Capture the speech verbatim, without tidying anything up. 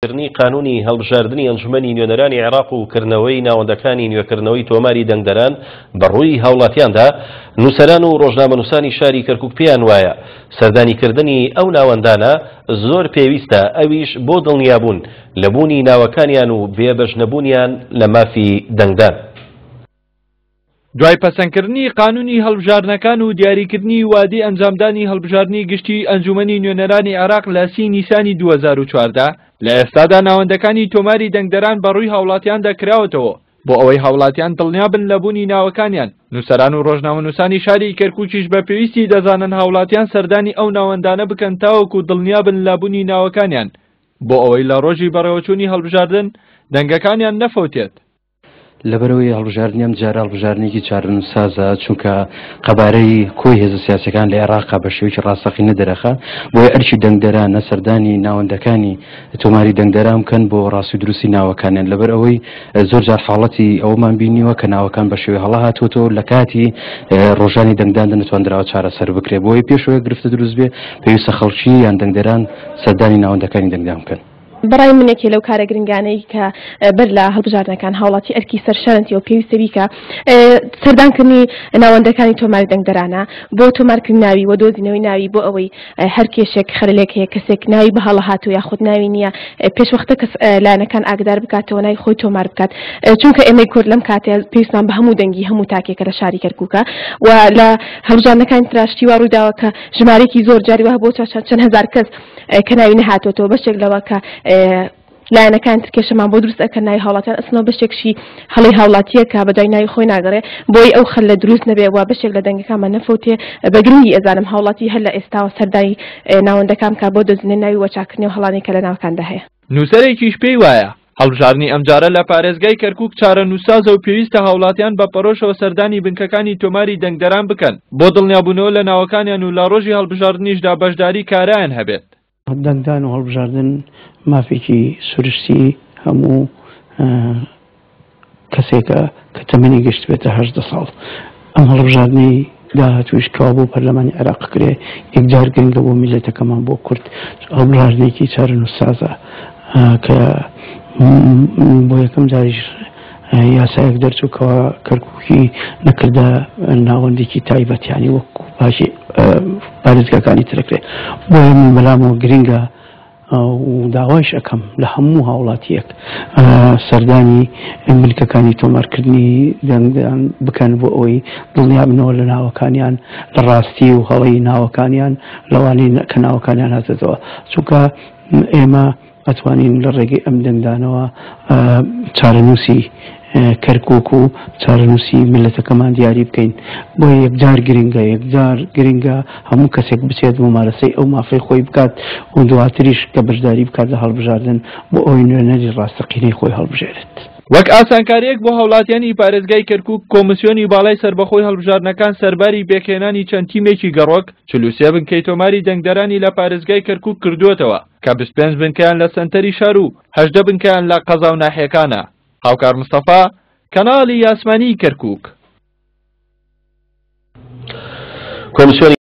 کردنی قانونی هەڵبژاردنی ئەنجومەنی نوێنەرانی عێراق و کردنەوەی ناوەندەکانی نوێکردنەوەی تۆماری دەنگدەران بەڕووی هاوڵاتیاندا، نووسەران و ڕۆژنامەنووسانی شاری کەرکوک پێیان وایە سەردانیکردنی ئەو ناوەندانە زۆر پێویستە، ئەویش بۆ دڵنیابوون لە بوونی ناوەکانیان و بێبەش نەبوونیان لە مافی دەنگدان. دوای پەسەندکردنی قانونی هەڵبژاردنەکان و دیاریکردنی وادەی ئەنجامدانی هەڵبژاردنی گشتی ئەنجومەنی نوێنەرانی عێراق لە سی نیسانی دوو هەزار و چواردە، لە ئێستادا ناوەندەکانی تۆماری دەنگدەران بەڕووی هاوڵاتیاندا کراوەتەوە بۆ ئەوەی هاوڵاتیان دڵنیابن لە بوونی ناوەکانیان. نووسەران و ڕۆژنامەنووسانی شاری کەرکوکیش بە پێویستی دەزانن هاوڵاتیان سەردانی ئەو ناوەندانە بکەن تاوەکو دڵنیابن لە بوونی ناوەکانیان، بۆ ئەوەی لە ڕۆژی بەڕێوەچوونی هەڵبژاردن دەنگەکانیان نەفەوتێت. لەبەرەوەی هەڵبژاردنی ئەم جارە هەڵبژاردنێکی چارەنووسسازە، چونکە قەبارەی کۆی هێزە سیاسەکان لە عێراقا بە شێوەیەکی ڕاستەقینە دەرەخە، بۆیە ئەرکی دەنگدەرانە سەردانی ناوەندەکانی تۆماری دەنگدەران بکەن بۆ ڕاستی دروستی ناوەکانیان. لەبەر ئەوەی زۆر جار حاڵەتی ئەوەمان بینیوە کە ناوەکان بە شێوەی هەڵە هاتووەتەوە لە کاتی ڕۆژانی دەنگداندا نەتواندراوە چارەسەر بکرێت. بۆیە پێشەوەی گرفتە دروست بێ پێویستە خەڵکی یان دەنگدەران سەردانی ناوەندەکانی دەنگدان بکەن. بەڕای من یەکێ لەو کارە گرنگانەی کە بەر لە هەڵبژاردنەکان هاوڵاتی ئەرکی سەرشانەتی و پێویستە بیکە سەردانکردنی ناوەندەکانی تۆماری دەنگدەرانە بۆ تۆمارکردنی ناوی و دۆزینەوەی ناوی، بۆ ئەوەی هەر کێشێک خەلەلێک هەیە کەسێک ناوی بە هەڵە هاتوو یاخود ناوی نییە پێشوەختە کەس لایەنەکان ئاگدار بکاتەوە ناوی خۆی تۆمار بکات، چونکە ئێمەی کورد لەم کاتێ پێویستمان بە هەموو دەنگی هەموو تاکێکە لە شاری کەرکووکە و لە هەڵبژاردنەکانی تراشتی وا ڕوویداوە کە ژمارەیەکی زۆر جاری وە بۆ چەند هەزار کەس کە ناوی نەهاتووەتەوە، بەشێک لەوە کە لایەنەکان ترکێشەمان بۆ دروست ئەکەن ناوی هاوڵاتیان ئەسنەوە، بەشێکشی هەڵی هاوڵاتیە کە بەدوای ناوی خۆی ناگەڕێ، بۆی ئەو خەلە دروست نەبێ و بەشێک لە دەنگەکانمان نەفەوتێ. بە گرنگی ئەزانم هاوڵاتی هەر لە ئێستاوە سەردانی ناوەندەکان بکات بۆ دۆزینەوەی ناوی وەچاکردنی و هەڵانەی کە لە ناوەکاندا هەیە. نووسەرێکیش پێی وایە هەڵبژاردنی ئەمجارە لە پارێزگای کەرکوک چارەنووسسازە و پێویستە هاوڵاتیان بە پەرۆشەوە سەردانی بنکەکانی تۆماری دەنگدەران بکەن بۆ دڵنیابوونەوە لە ناوەکانیان و لە ڕۆژی هەڵبژاردنیشدا بەشداری کارایان هەبێت. دەنگدان و هەڵبژاردن مافێکی سروشتی هەموو کەسێکە کە تەمەنی گەشت بێتە هەژدە ساڵ. ئەم هەڵبژاردنەی داهاتووش کەوا بۆ پەرلەمانی عێراق کرێ یەکجار گرنگە بۆ میللەتەکەمان بۆ کورد. هەڵبژاردنێکی چارەنووسسازە کە بۆ یەکەم جاریش یاسایەک دەرچوو کەوا کەرکوکی نەکردە ناوەندێکی تایبەت، یعنی وەکو باشی پارێزگاکانی ترەکرێ. بۆیە من بەلامەوە گرنگە و داوایش ئەەکەم لە هەموو هاوڵاتیەک سەردانی بنکەکانی تۆمارکردنی دەنگدان بکەن بۆ ئەوەی دڵنیابنەوە لە ناوەکانیان، لە ڕاستی و هەڵەی ناوەکانیان، لەوانەی کە ناوەکانیان هاتێتەوە، چونکە ئێمە ئەتوانین لە ڕێگەی ئەم دەنگدانەوە چارەنووسی کەرکوک و چارەنووسی میللەتەکەمان دیاری بکەین. بۆیە یەکجار گرنگە، یەکجار گرنگە هەموو کەسێک بچێت ممارەسەی ئەو مافەی خۆی بکات و دواتریش کە بەشداری بکات لە هەڵبژاردن بۆ ئەوەی نوێنەری ڕاستەقینەی خۆی هەڵبژێرێت. وەک ئاسانکاریەک بۆ هاوڵاتیانی پارێزگای کەرکوک، کۆمیسیۆنی باڵای سەربەخۆی هەڵبژاردنەکان سەرباری پێکهێنانی چەند تیمێکی گەڕۆک چل و سێ بنکەی تۆماری دەنگدەرانی لە پارێزگای کەرکوک کردووەتەوە کە بیست و پێنج بنکەیان لە سەنتەری شار و هەژدە بنکەیان لە قەزا و ناحیەکانە. هاوکار مستەفا، کەناڵی یاسمانی کەرکوک. کۆمیسیۆنی